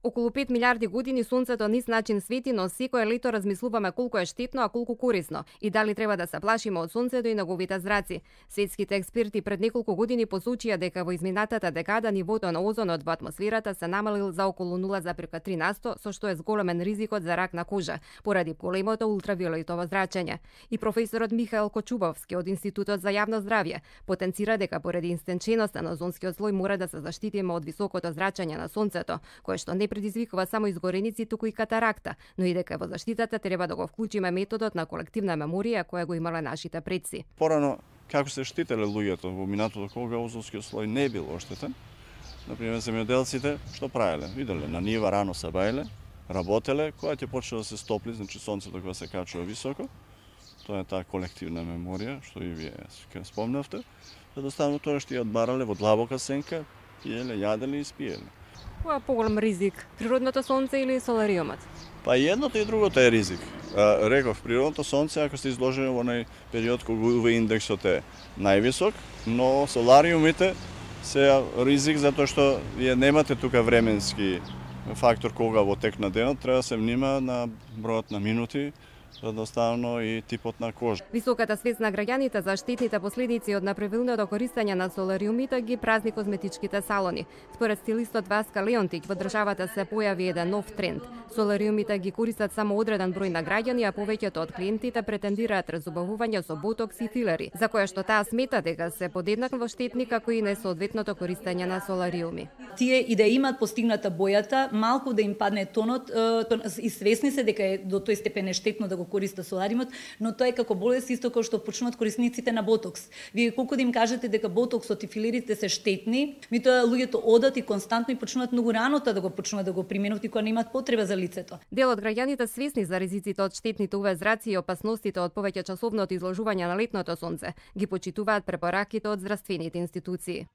Околу 5 милиарди години сонцето низ начин свети, но секое лето размислуваме колку е штетно, а колку корисно и дали треба да се плашиме од сонцето и неговите зраци. Светските експерти пред неколку години посочија дека во изминатата декада нивото на озонот во атмосферата се намалил за околу 0,3%, со што е зголемен ризикот за рак на кожа поради големото ултравиолетово зрачење. И професорот Михаил Кочубовски од Институтот за јавно здравје потенцира дека поради истенченоста на озонскиот слој мора да се заштитиме од високото зрачење на сонцето, кое што не предизвикува само изгореници, туку и катаракта, но и дека во заштитата треба да го вклучиме методот на колективна меморија која го имале нашите предци. Порано како се штителе луѓето во минатото кога озонскиот слој не бил оштетен, например земјоделците што правеле? Виделе на нива рано се бајле, работеле, кога ќе почне да се стопли, значи сонцето кога се качува високо, тоа е таа колективна меморија што и вие спомнавте. Едноставно тоа што ја одбарале во длабока сенка, пиеле, јаделе и спиеле. Кој е поголем ризик? Природното сонце или солариумот? Па и едното и другото е ризик. Реков, природното сонце, ако сте изложени во онај период кога UV индексот е највисок, но солариумите се ризик затоа што вие немате тука временски фактор кога во тек на денот, треба да се внима на бројот на минути, едноставно и типот на кожа. Високата свест на граѓаните за штетните последици од неправилното користење на солариумите ги празни козметичките салони. Според стилистот Васка Леонтик, во државата се појави еден нов тренд. Солариумите ги користат само одреден број на граѓани, а повеќето од клиентите претендираат разубавување со ботокс и филери, за која што таа смета дека се подеднакво штетни како и несоодветното користење на солариуми. Тие и да имаат постигната бојата, малку да им падне тонот, и свесни се дека е до тој степен е штетно да го користат солариумот, но тоа е како болест исто како што почнуваат корисниците на ботокс. Вие колку да им кажете дека ботоксот и филерите се штетни, меѓутоа луѓето одат и константно и почнуваат многу рано да го почнуваат да го применуваат и кога немаат потреба за лицето. Дел од граѓаните свесни за ризиците од штетните UV зраци и опасностите од повеќе часовното изложување на летното сонце ги почитуваат препораките од здравствените институции.